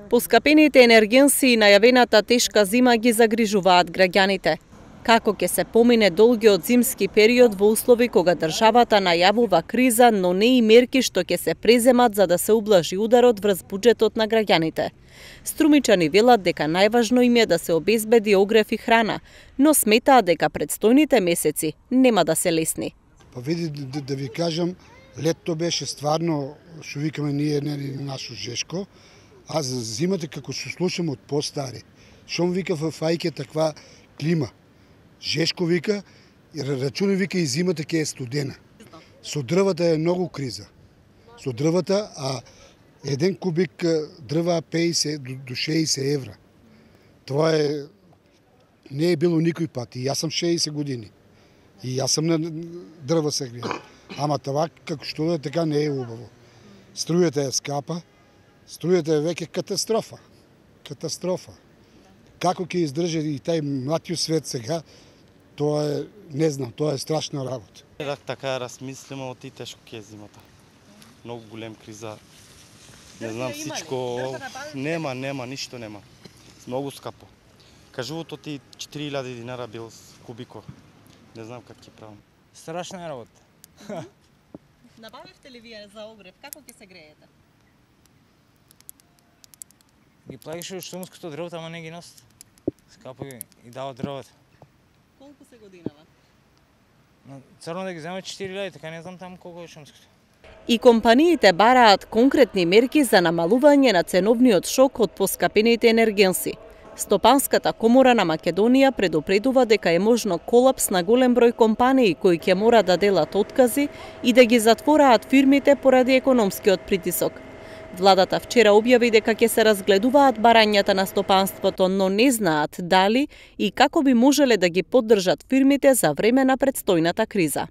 Поскапените енергенси и најавената тешка зима ги загрижуваат граѓаните. Како ќе се помине долгиот зимски период во услови кога државата најавува криза, но не и мерки што ќе се преземат за да се ублажи ударот врз буџетот на граѓаните. Струмичани велат дека најважно им е да се обезбеди огрев и храна, но сметаат дека предстојните месеци нема да се лесни. Па види да ви кажам, летто беше стварно, што викаме ние нашо жешко, а за зимата како се слушам од постари. Шом вика во фајке таква клима. Жешко вика, и рачуни вика и зимата ќе е студена. Со дрвата е многу криза. Со дрвата, а еден кубик дрва 50 до 60 евра. Тоа не е било никој пат. И јас сам 60 години. И јас сам на дрва се греем. Ама това како што е така не е убаво. Струјата е скапа, струјата е веќе катастрофа. Катастрофа. Како ќе издржи и тај млатиот свет сега, тоа е, не знам, тоа е страшна работа. Така размислиме оти тешко ќе е зимата. Многу голем криза. Не знам всичко. Нема, ништо нема. Многу скапо. Кажуват оти 4000 динара бил кубико. Не знам как ќе правам. Страшна работа. Набавивте ли вие за огрев? Како ќе се греете? Ги плаќаше од шумското дрвото, ама не ги носат. Скапо и дават дрвата. Колку се годинава? Црно да ги земат 4000, така не знам таму колку е шумското. И компаниите бараат конкретни мерки за намалување на ценовниот шок од поскапените енергенси. Стопанската комора на Македонија предупредува дека е можно колапс на голем број компании кои ќе мора да делат откази и да ги затвораат фирмите поради економскиот притисок. Владата вчера објави дека ќе се разгледуваат барањата на стопанството, но не знаат дали и како би можеле да ги поддржат фирмите за време на предстојната криза.